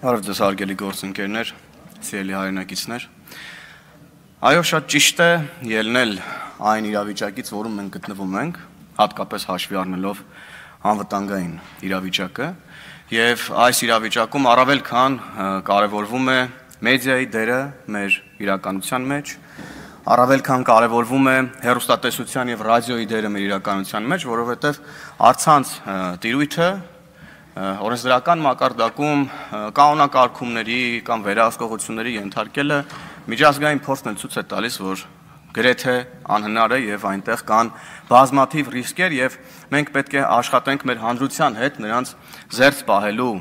Բարև ձեզ հարգելի գործընկերներ, սիրելի հայրենակիցներ։ Այո, շատ ճիշտ է ելնել այն իրավիճակից, որում մենք գտնվում ենք, հատկապես հաշվի առնելով անվտանգային իրավիճակը, եւ այս իրավիճակում առավել քան կարևորվում է մեդիայի դերը մեր իրականության մեջ, առավել քան կարևորվում է հեռուստատեսության եւ ռադիոյի դերը մեր իրականության մեջ, որովհետեւ առցանց տիրույթը օրենսդրական մակարդակում կանոնակարգումների կամ վերահսկողությունների ենթարկելը միջազգային փորձն էլ ցույց է տալիս, որ գրեթե անհնար է եւ այնտեղ կան բազմաթիվ ռիսկեր եւ մենք պետք է աշխատենք մեր հանրության հետ նրանց զերծ պահելու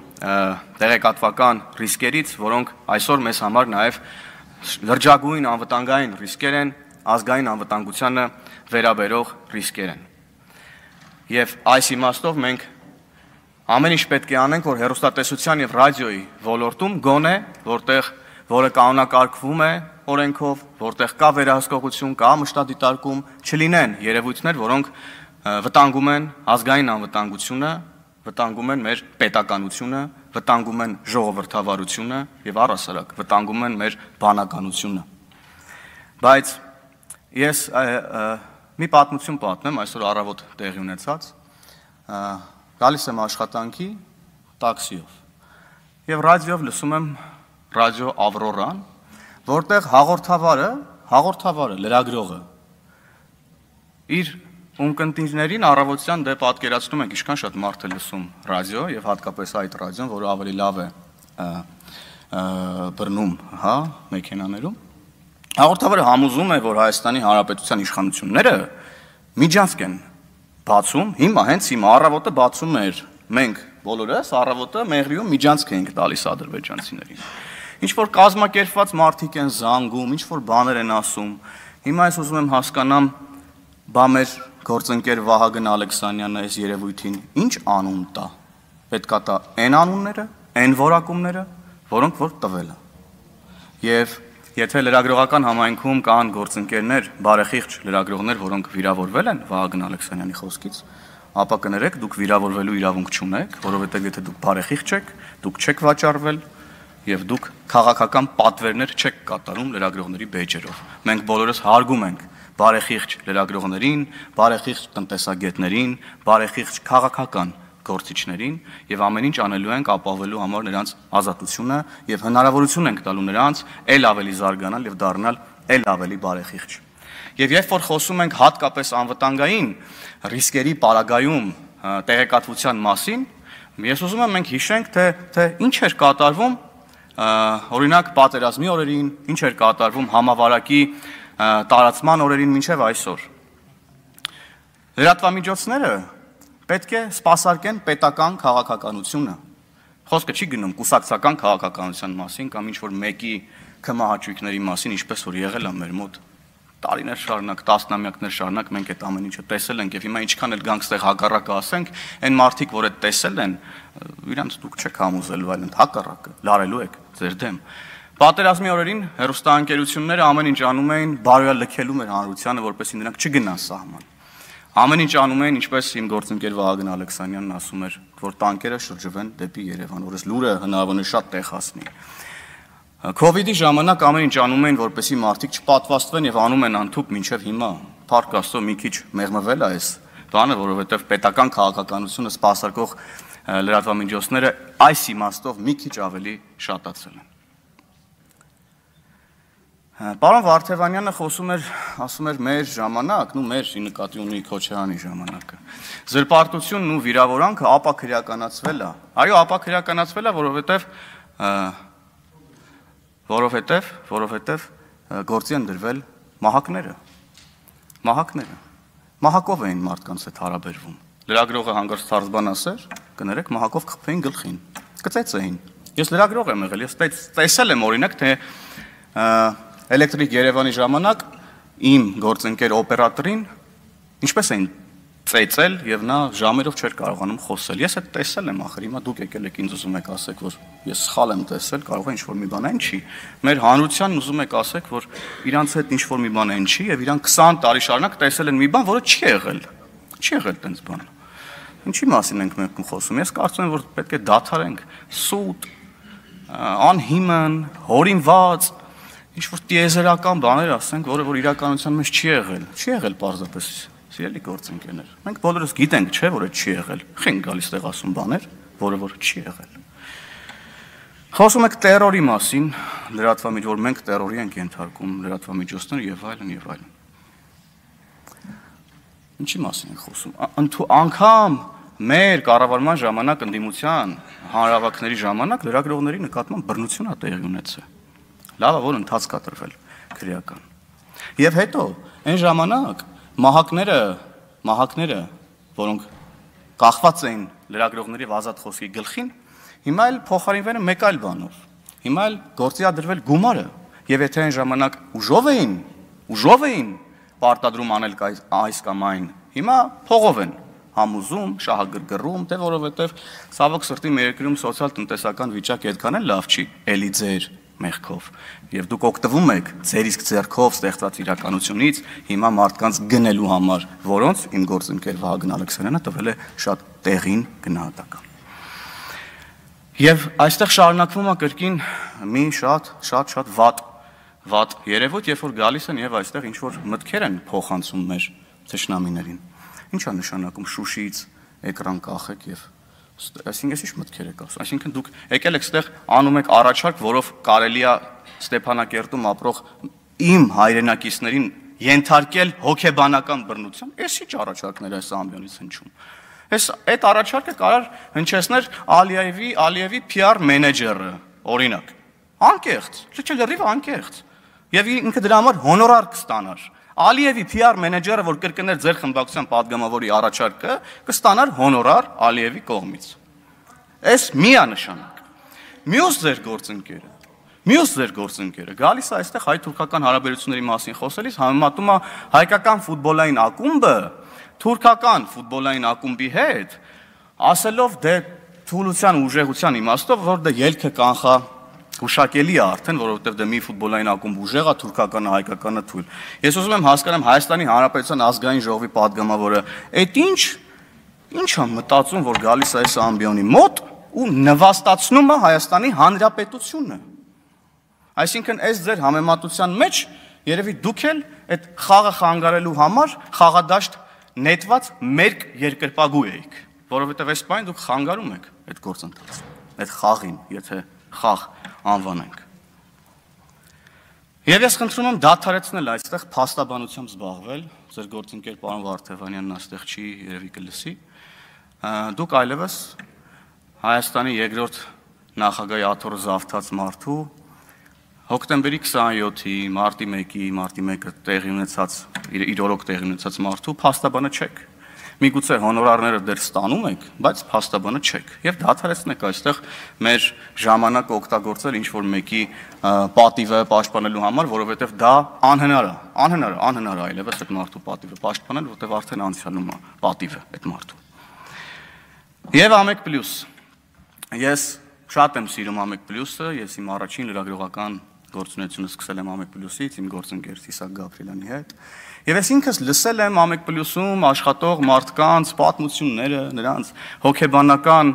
տեղեկատվական ռիսկերից, որոնք այսօր մեզ համար նաեւ լրջագույն անվտանգային ռիսկեր են, ազգային անվտանգությանը վերաբերող ռիսկեր են։ Եվ այս իմաստով մենք ամեն ինչ պետք է անենք, որ հեռուստատեսության եւ ռադիոյի ոլորտում գոնե, որը կանոնակարգվում է օրենքով, որտեղ կա վերահսկողություն, կա մշտադիտարկում, չլինեն երևույթներ, որոնք վտանգում են ազգային անվտանգությունը, վտանգում են մեր պետականությունը, վտանգում են ժողովրդավարությունը եւ առհասարակ վտանգում են մեր բանականությունը։ Բայց ես մի պատմություն պատմեմ, այսօր առավոտ տեղի ունեցած, գալիս եմ աշխատանքի տաքսիով եւ ռադիոյով լսում եմ ռադիո Ավրորան, որտեղ հաղորդավարը, լրագրողը իր ունկնդիրներին առավոտյան դե պատկերացնում եք ինչքան շատ մարդ է լսում ռադիո եւ հատկապես այդ ռադիոն, որը ավելի լավ է բռնում, հա, մեքենաներում։ Հաղորդավարը համոզում է, որ Հայաստանի Հանրապետության իշխանությունները միջանցք են բացում, հիմա հենց հիմա առավոտը բացում էր, մենք բոլորս առավոտը Մեղրիում միջանցք էինք տալիս ադրբեջանցիներին։ Ինչ որ կազմակերպված մարդիկ են զանգում, ինչ որ բաներ են ասում։ Հիմա ես ուզում եմ հասկանամ, բա մեր գործընկեր Վահագն Ալեքսանյանը այս երևույթին ինչ անուն տա։ Պետքա տա այն անունները, այն որակումները, որոնք որ տվել է։ Եվ եթե լրագրողական համայնքում կան գործընկերներ, բարեխիղճ լրագրողներ, որոնք վիրավորվել են Վահագն Ալեքսանյանի խոսքից, ապա կներեք, դուք վիրավորվելու իրավունք չունեք, որովհետև եթե դուք բարեխիղճ եք, դուք չեք վաճառվել եւ դուք քաղաքական պատվերներ չեք կատարում լրագրողների բեյջերով։ Մենք բոլորս հարգում ենք բարեխիղճ լրագրողներին, բարեխիղճ տնտեսագետներին, բարեխիղճ քաղաքական գործիչներին եւ ամեն ինչ անելու ենք ապահովելու համար նրանց ազատությունը եւ հնարավորություն ենք տալու նրանց ել ավելի զարգանալ եւ դառնալ ել ավելի բարեխիղճ։ Եվ երբ որ խոսում ենք հատկապես անվտանգային ռիսկերի պարագայում տեղեկատվության մասին, ես ուզում եմ մենք հիշենք, թե ինչ էր կատարվում օրինակ պատերազմի օրերին, ինչ էր կատարվում համավարակի տարածման օրերին մինչև այսօր։ Լրատվամիջոցները պետք է սպասարկեն պետական քաղաքականությունը։ Խոսքը չի գնում կուսակցական քաղաքականության մասին կամ ինչ-որ մեկի քմահաճույքների մասին, ինչպես որ եղել է մեր մոտ տարիներ շարունակ, տասնամյակներ շարունակ մենք այդ ամեն ինչը տեսել ենք եւ հիմա ինչքան էլ գանք ստեղ հակառակը ասենք, այն մարդիկ, որ այդ տեսել են, իրանց դուք չեք համոզելու, այլ հակառակը լարելու եք ձեր դեմ։ Պատերազմի օրերին հեռուստաընկերությունները ամեն ինչ անում էին բարոյալքելու մեր հանրությանը, որպեսզի նրանք չգնան սահման։ Ամեն ինչ անում էին, ինչպես իմ գործընկեր Վահագն Ալեքսանյանն ասում էր, որ տանկերը շրջվեն դեպի Երևան, որս լուրը հնարավորինս շատ տեղ հասնի։ Քովիդի ժամանակ ամեն ինչ անում էին, որպեսզի մարդիկ չպատվաստվեն եւ անում են անթուք մինչեւ հիմա։ Փառք Աստծո մի քիչ մեղմվել է այս բանը, որովհետեւ պետական քաղաքականությունը սպասարկող լրատվամիջոցները այս իմաստով մի քիչ ավելի շատացել են։ Պարոն Վարդևանյանը ասում էր մեր ժամանակ, մեր նկատի ունի Քոչարյանի ժամանակը։ Զրպարտությունն ու վիրավորանքը ապաքրեականացվել է։ Այո, ապաքրեականացվել է, որովհետև գործի են դրվել մահակները։ Մահակով էին մարդկանց հետ հարաբերվում։ Լրագրողը հանգարց թարզբան ասեր, կներեք մահակով խփեին գլխին, կծեծեին։ Ես լրագրող եմ եղել, ես տեսել եմ օրինակ, թե Էլեկտրիկ Երևանի ժամանակ իմ գործընկեր օպերատորին ինչպես էին ծեծել եւ նա ժամերով չէր կարողանում խոսել։ Ես այդ տեսել եմ, ախր հիմա դուք եկել եք ինձ ուզում եք ասեք, որ ես սխալ եմ տեսել, կարող է ինչ-որ մի բան այն չի։ Մեր հանրությանն ուզում եք ասեք, որ իրանց հետ ինչ-որ մի բան այն չի եւ իրանք 20 տարի շարունակ տեսել են մի բան, որը չի եղել։ Չի եղել տենց բան։ Ինչի մասին ենք մենք խոսում։ Ես կարծում եմ, որ պետք է դադարենք սուտ անհիմն, հորինված, ինչ-որ տիեզերական բաներ ասենք, որ իրականության մեջ չի եղել պարզապես, սիրելի գործընկերներ։ Մենք բոլորս գիտենք, չէ, որ այդ չի եղել։ Խենք գալիս տեղ ասում բաներ, որ չի եղել։ Խոսում եք տերորի մասին, լրատվամիջոցներ, որ մենք տերորի ենք ենթարկում, լրատվամիջոցները եւ այլն։ Ինչի մասին ենք խոսում։ Անգամ մեր կառավարման ժամանակ ընդդիմության հանրահավաքների ժամանակ լրագրողների նկատմամբ բռնություն է տեղի ունեցել։ Լավ է, որ ընթացք կա տրվել քրեական։ Եվ հետո այն ժամանակ մահակները, որոնք կախված էին լրագրողների ազատ խոսքի գլխին, հիմա էլ փոխարինվել են մեկ այլ բանով։ Հիմա էլ գործի է դրվել գումարը, եւ եթե այն ժամանակ ուժով էին պարտադրում անել այս կամ այն, հիմա փողով են համուզում, շահագրգռում, թե որովհետև ցավոք սրտի մեր երկրում սոցիալ-տնտեսական վիճակը այդքան էլ լավ չի, էլի ձեր մեղքով։ Եվ դուք օգտվում եք ձեր իսկ ձեռքով ստեղծած իրականությունից հիմա մարդկանց գնելու համար, որոնց իմ գործընկեր Վահագն Ալեքսանյանը տվել է շատ տեղին գնահատական։ Եվ այստեղ շարունակվում է կրկին մի շատ վատ երևույթ, երբ որ գալիս են եւ այստեղ ինչ որ մտքեր են փոխանցում մեր թշնամիներին։ Ինչ է նշանակում Շուշիից էկրան կախեք եւ այսինքն ինչ մտքեր եք ասում։ Այսինքն դուք եկել եք այստեղ անում եք առաջարկ, որով կարելի է Ստեփանակերտում ապրող իմ հայրենակիցներին ենթարկել հոգեբանական բռնության։ Էս ինչ առաջարկներ այս ամբիոնից հնչում։ Այդ առաջարկը կարար հնչեցներ Ալիևի PR մենեջերը, օրինակ։ Անկեղծ, լրիվ անկեղծ։ Եվ ինքը դրա համար հոնորար կստանար։ Ալիևի PR մենեջերը, որ կրկներ ձեր խմբակցության падգամավորի առաջարկը, կստանար հոնորար Ալիևի կողմից։ Այս միանշանակ։ Մյուս ձեր գործընկերը գալիս է այստեղ հայ-թուրքական հարաբերությունների մասին խոսելիս համեմատում է հայկական ֆուտբոլային ակումբը թուրքական ֆուտբոլային ակումբի հետ, ասելով դե թուլության ուժեղության իմաստով, որ դե ելքը կանխա հուշակելի է արդեն, որովհետև դե մի ֆուտբոլային ակումբ ուժեղ է, թուրքականը, հայկականը թույլ։ Ես ուզում եմ հասկանամ Հայաստանի Հանրապետության ազգային ժողովի падգամավորը, այդ ինչ է մտածում, որ գալիս է այս ամբիոնի մոտ ու նվաստացնում է Հայաստանի Հանրապետությունը։ Այսինքն այս ձեր համեմատության մեջ երևի դուք էլ այդ խաղը խանգարելու համար խաղադաշտ նետված մերկ երկրպագու էիք, որովհետև այս բանը դուք խանգարում եք այդ գործընթացը, այդ խաղին, եթե խաղ անվանենք։ Եվ ես խնդրում եմ դադարեցնել այստեղ փաստաբանությամբ զբաղվել, ձեր գործընկեր պարոն Վարդևանյանն այստեղ չի, երևի կլսի։ Դուք այլևս Հայաստանի երկրորդ նախագահի աթոռը զավթած մարդու հոկտեմբերի 27-ի, մարտի 1-ը տեղի ունեցած, իր օրոք տեղի ունեցած մարդու փաստաբանը չեք։ Միգուցե հոնորարները դեռ ստանում եք, բայց փաստաբանը չեք։ Եվ դադարեցնեք այստեղ մեր ժամանակը օգտագործել ինչ-որ մեկի պատիվը պաշտպանելու համար, որովհետև դա անհնար է այլևս այդ մարդու պատիվը պաշտպանել, որովհետև արդեն անցյալում է պատիվը այդ մարդու։ Եվ Ամեկ+։ Ես շատ եմ սիրում Ամեկ+-ը, ես իմ առաջին լրագրողական գործունեությունը սկսել եմ Ամեկ+-ից, իմ գործընկեր Իսահակ Գաբրիելյանի հետ։ Եվ ես ինքս լսել եմ Ամեկ+-ում աշխատող մարդկանց պատմությունները, նրանց հոգեբանական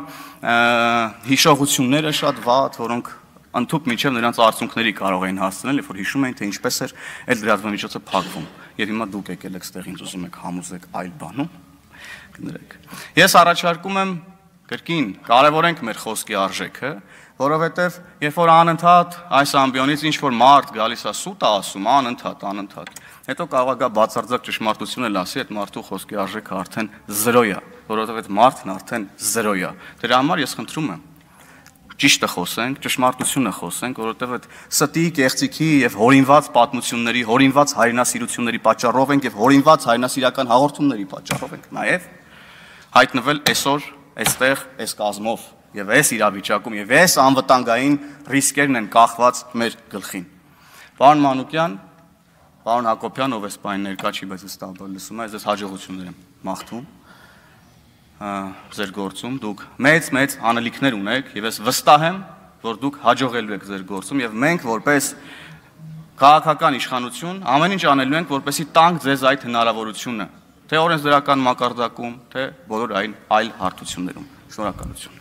հիշողությունները շատ վատ, որոնք ընդհուպ մինչև նրանց արդյունքների կարող էին հասցնել, երբ որ հիշում էին, թե ինչպես էր այդ լրատվամիջոցը փակվում։ Եվ հիմա դուք եկել եք ստեղ ինձ ուզում եք համոզեք այլ բանում, կներեք։ Ես առաջարկում եմ կրկին կարևորենք մեր խոսքի արժեքը, որովհետև երբ որ անընդհատ այս ամբիոնից ինչ-որ մարդ գալիս է սուտ է ասում, անընդհատ, հետո կարող է գա բացարձակ ճշմարտություն էլ ասի, այդ մարդու խոսքի արժեքը արդեն 0 է, որովհետև այդ մարդն արդեն 0 է։ Դրա համար ես խնդրում եմ ճիշտը խոսենք, ճշմարտությունը խոսենք, որովհետև այդ ստի, կեղծիքի եւ հորինված պատմությունների, հորինված հայրենասիրությունների պատճառով ենք եւ հորինված հայրենասիրական հաղորդումների պատճառով ենք նաեւ հայտնվել այսօր այստեղ այս կազմով եւ այս իրավիճակում եւ այս անվտանգային ռիսկերն են կախված մեր գլխին։ Պարոն Մանուկյան, պարոն Հակոբյան, ով էս բան ներկա չի, բայց հստակ լսում է, ես հաջողություններ եմ մաղթում ձեր գործում, դուք մեծ անելիքներ ունեք եւ ես վստահ եմ, որ դուք հաջողելու եք ձեր գործում եւ մենք որպես քաղաքական իշխանություն ամեն ինչ անելու ենք, որպեսզի տանք ձեզ այդ հնարավորությունը, թե օրենսդրական մակարդակում, թե բոլոր այլ հարթություններում։ Շնորհակալություն։